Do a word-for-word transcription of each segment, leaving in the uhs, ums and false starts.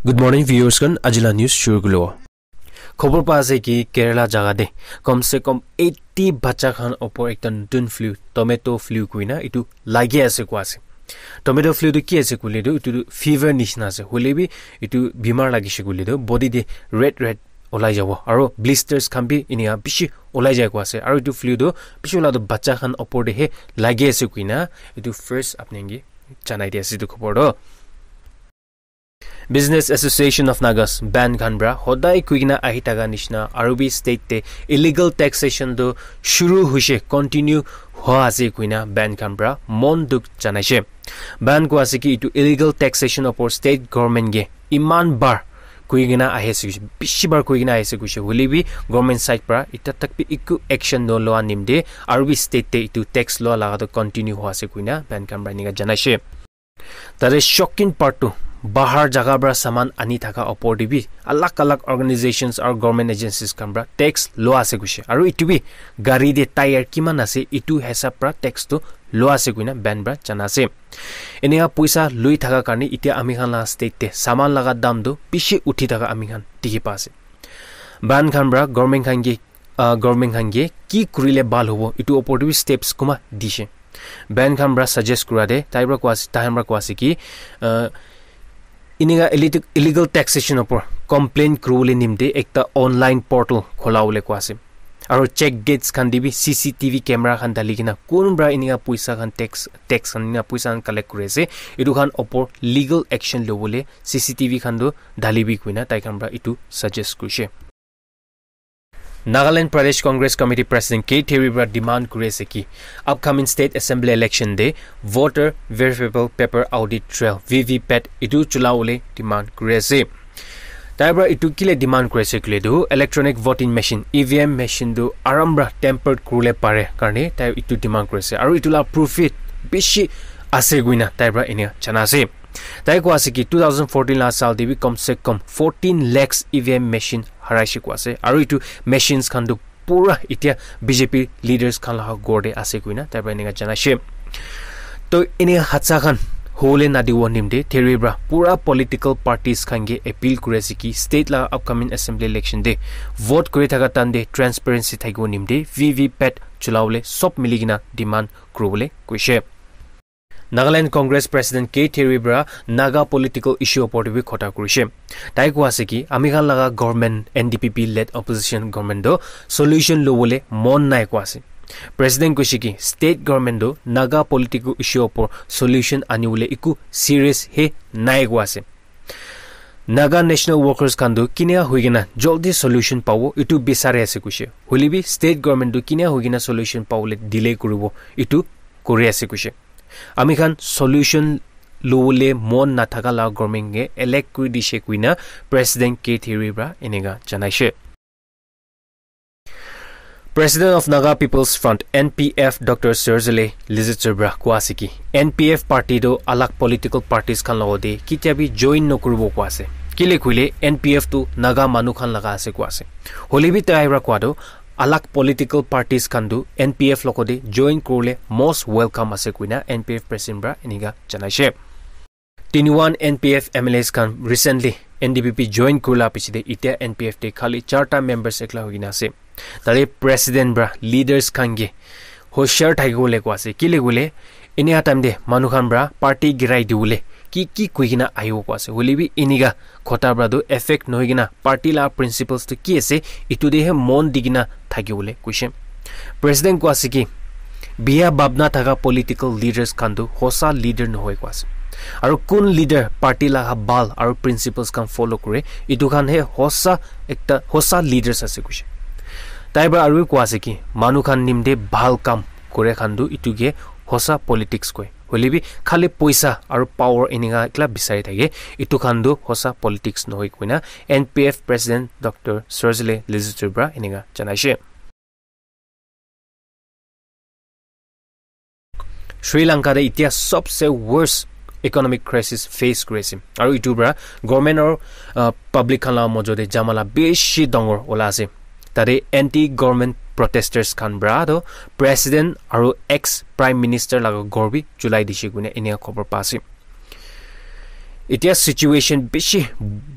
Good morning, viewers khan. Ajila news shuru kulo. Khobor pa ase ki Kerala jaga de kom se kom eighty bacha khan opor ekta nutun flu, tomato flu kuina itu lagi ase kwa ase. Tomato flu tu ki ase kule tu itu tu fever nishina ase. Hule bi itu bimar lagise kule tu body de red red olai jabo. Aro blisters khan bi inika bishi olai jai kwa ase. Aro itu flu tu bishi ola tu bacha khan opor de he lagi ase kuina itu first apni ke janai di ase itu khobor to. Business Association of Nagas, ban khan pra hodai kuikena ahi thaka nishina aru bi state te illegal taxation tu shuru hoise, continue hua ase kuina ban khan pra mon dukh janaise. Ban kua ase ki itu illegal taxation opor state government ke iman bar kuikena ahi ase, bishi bar kuikena ahi ase kuise, hoile bi government side pra ita tak bi eku action no loa nimde aru bi state te itu tax loa laga tu continue hua ase kuina ban khan pra enika janaise. Tate shocking part tu, bahar jaga pra saman ani thaka opor te bi alag alag organizations aru government agencies khan pra tax loa ase kuise. Aru itu bi gari te tyre kiman ase, itu hisab pra tax tu loa ase kuina ban pra jana ase. Eneka poisa lui thaka karne itia ami khan la state te saman laga dam tu bishi uthi thaka ami khan dikhi pa ase. Ban khan pra government khan ke uh, government khan ke ki kurile bhal hobo, itu opor te bi steps kuma dishe. Ban khan pra suggest kura de, tai pra koi ase, tai khan pra koi ase ki, uh, inika illit-, illegal taxation opor complaint kuribole nimite ekta online portal khola bole koi ase. Aro check gates khan te bi C C T V camera khan dali kena kun pra inika poisa khan tax, tax khan inika poisa khan collect kuri ase, itu khan opor legal action lobole C C T V khan tu dali bi kuina tai khan pra itu suggest kurishe. Nagaland Pradesh Congress Committee President K Therie pra demand kuri ase ki upcoming state assembly election te voter verifiable paper audit trail V V pat itu chula bole demand kuri ase. Tai pra itu kile demand kuri ase kile tu electronic voting machine, E V M machine tu aram pra tampered kuribole pare karne tai itu demand kuri ase. Aru itu la proof it bishi ase kuina tai pra enia jana ase. Tai koi ase ki two thousand fourteen la saal te bi kom se kom fourteen lakhs E V M machine haraishe koi ase. Aru itu machines khan tu pura itia B J P leaders khan la ghor te ase kuina tai pra enika janaishe. To enia hadsa khan hole nadibo nimite Therie pra pura political parties khan ke appeal kuri ase ki state la upcoming assembly election te vote kuri thaka time te transparency thakibo nimite V V pat chula bole sob mili kena demand kuribole koishe. Nagaland Congress President K Therie pra Naga political issue opor te bi khota kurishe. Tai koi ase ki ami khan laga government N D P P led opposition government to solution lobole mon nai koi ase. President koishe ki state government to Naga political issue opor solution anibole eku serious he nai koi ase. Naga national workers khan tu kinia hoikena joldi solution pabo itu bisari ase kuishe. Hoile bi state government tu kinia hoikena solution pabole delay kuribo itu kuri ase kuishe. Ami khan solution lobole mon nathaka la government ke elect kuri dishe kuina President K Therie pra enika janaishe. President of Naga People's Front, N P F, Doctor Serzele Lizitsubra koi ase ki N P F party to alag political parties khan logote kitia bi join nokuribo koi ase. Kile koile N P F tu Naga manu khan laga ase koi ase. Hole bi tai pra koi to alag political parties khan tu N P F logote join kuribole most welcome ase kuina N P F president pra enika janaishe. Tiniwan N P F M L As khan recently N D P P join kurila pichete itia N P F te khali charta members ekla hoikena ase. Tate president pra leaders khan ke hoshiar thakibole koi ase. Kile koile enia time te manu khan pra party girai dibole ki ki koikena ahibo koi ase. Hole bi enika khota pra tu effect nohoikena party la principles tu ki ase itu te he mon dikena thakibole koishe. President koi ase ki biya bhabna thaka political leaders khan tu hosa leader nohoi koi ase. Aru kun leader party laga bhal aru principles khan follow kure itu khan he hosa ekta hosa leaders ase koishe. Tai pra aru koi ase ki manu khan nimite bhal kam kure khan tu itu ke hosa politics koi. Hole bi khali poisa aru power enika ekla bisari thake itu khan tu hosa politics nohoi kuina N P F president Doctor Serzele Lizitsubra enika janaishe. Sri Lanka te itia sobse worst economic crisis face kuri ase. Aru itu pra government aru, uh, public khan la mojo te jamala bishi dangor ola ase. Tate anti-government protesters khan pra to president aru ex prime minister laga ghor bi julai dishe kuina enika khobor pa ase. Etia situation bishi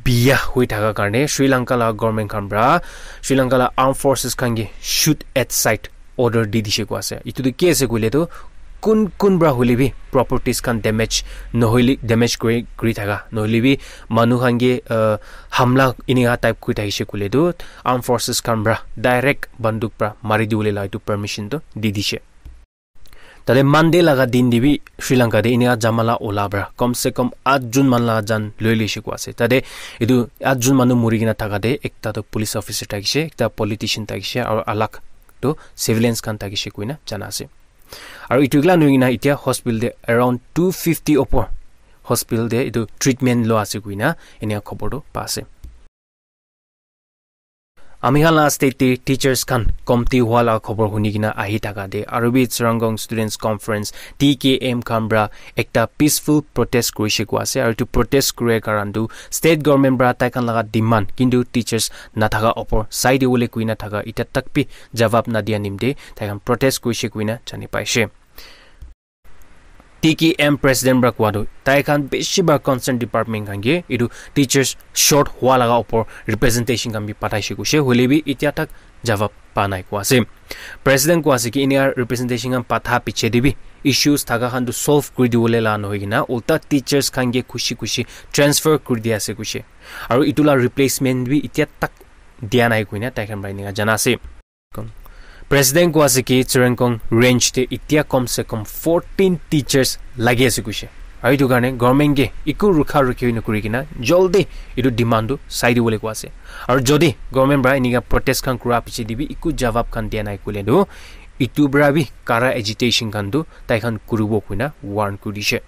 biya hoi thaka karne Sri Lanka la government khan pra Sri Lanka la armed forces khan ke shoot at sight order di dishe koi ase. Itu tu ki ase koile tu kun kun pra hoile bi properties khan damage nohoile damage kuri kuri thaka nohoile bi manu khan ke uh, hamla inika type kuri thakishe koile tu armed forces khan pra direct banduk pra mari diwole la itu permission tu di dishe. Tate Monday laga din te bi Sri Lanka te inika jamala ola pra kom se kom at jun man laga jan loi lishe koi ase. Tate itu at jun manu muri kena thaka te ekta tu police officer thakishe, ekta politician thakishe, aru alag tu civilians khan thakishe koina jana ase. Aru itu kila nui kena itia hospital te around two fifty opor hospital te itu treatment lo ase koina inika khobor tu pa ase. Ami khan la state te teachers khan komti hua la khobor huni kena ahi thaka te aru bi Tsirangong Students Conference T K M khan pra ekta peaceful protest kurishe koi ase aru itu protest kuria karan tu state government pra tai khan laga demand kintu teachers nathaka opor sai diwole kuina thaka ita tak bi jawab nadia nimte tai khan protest kurishe kuina jani paishe. T K M president pra kowa tu tai khan bishi ba concern department khan ke itu teachers short hua laga opor representation khan bi pataishe koishe hoile bi itia tak jawab pa nai kowa ase. President kowa ase ki inika representation khan patha piche te bi issues thaka khan tu solve kuri diwole la nohoi kena ulta teachers khan ke khushi khushi transfer kuri dia ase koishe. Aru itu la replacement bi itia tak dia nai koina tai khan pra inika jana ase. President kowa ase ki Tsirangong range te itia kom se kom fourteen teachers lagi ase koishe. Aru itu karne government ke iku rukha rukhi nokuri kena joldi itu demand tu sai diwole kowa ase. Aru jodi government pra inika protest khan kura piche te bi iku jawab khan dia nai koile tu itu pra bi kara agitation khan tu tai khan kuribo koina warn kuri dishe.